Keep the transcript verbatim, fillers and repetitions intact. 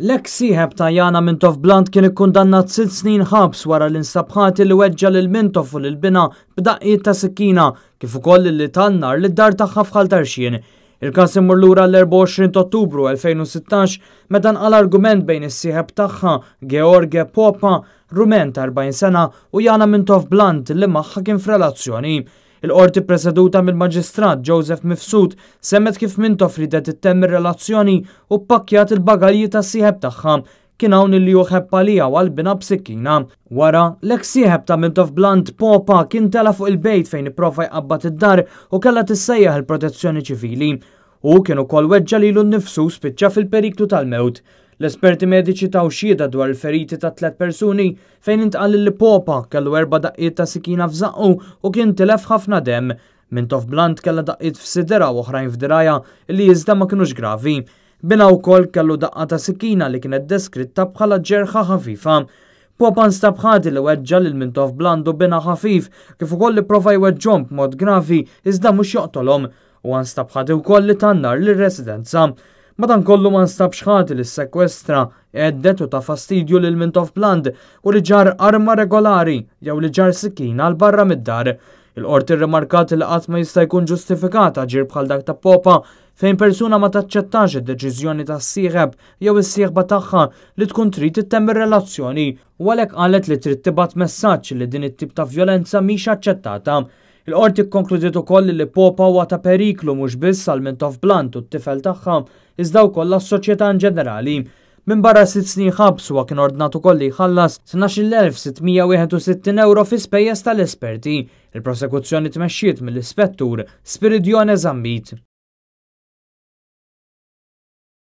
L-eks sieħeb ta' Jana Mintoff Bland kien ikkundannat sitt snin ħabs wara li nstab ħati li weġġa lil Mintoff u lil binha b'daqqiet ta' sikkina kif ukoll li ta n-nar lid-dar tagħha f'Ħal Tarxien. Il-każ imur lura l-erbgħa u għoxrin ta' Ottubru elfejn u sittax meta nqala argument bejn is-sieħeb tagħha George Popa, Rumen ta' erbgħin sena, u Jana Mintoff Bland li magħha kien f'relazzjoni. Il-qorti preseduta mill-Maġistrat Joseph Mifsud semgħet kif Mintoff ridet ittemm ir-relazzjoni u pakkjat il-bagalji tas-sieħeb tagħha. Kien hawn li hu ħebb għaliha u għal binha b'sikkina. Wara, l-eks sieħeb ta' Mintoff Bland, Popa, kien tela fuq il-bejt fejn ipprova jqabbad id-dar u kellha tissejjaħ il-protezzjoni ċivili. U kien ukoll weġġa lilu nnifsu, spiċċa fil-periklu tal-mewt. L-esperti mediċi taw xhieda dwar il-feriti ta' tliet persuni fejn intqal li Popa kellu erba' daqqiet ta' sikina f'żaqqu u kien tilef ħafna dem. Mintoff Bland kellha daqqiet f'sidirha u oħrajn f'dirgħajha li iżda ma kinux gravi. Binha wkoll kellu daqqa ta' sikina li kienet deskritta bħala ġerħa ħafifa. Popa nstab ħati li weġġa lil Mintoff Bland u binha ħafif kif ukoll li prova jweġġhom b'mod gravi iżda mhux joqtolhom u nstab ħati wkoll li ta n-nar lir-residenza. Madankollu ma nstabx ħati li sekwestra, hedded u ta fastidju lil Mintoff Bland u li ġarr arma regolari jew li ġarr sikkina 'l barra mid-dar. Il-qorti rimarkat li qatt ma jista' jkun ġustifikat aġir bħal dak ta' Popa fejn persuna ma taċċettax id-deċiżjoni tas-sieħeb jew is-sieħba tagħha li tkun trid ittemm ir-relazzjoni u għalhekk qalet li trid tibgħat messaġġ li din it-tip ta' vjolenza mhix aċċettata. Il-qorti konkludiet ukoll li Popa huwa ta' periklu mhux biss għal Mintoff Bland u t-tifel tagħha iżda wkoll għas-soċjetà in ġenerali. Minn barra sitt snin ħabs, huwa kien ordnat ukoll li jħallas tnax-il elf sitt mija wieħed u sittin euro fi spejjeż tal-esperti. Il-prosekuzzjoni tmexxiet mill-Ispettur Spiridione Zammit.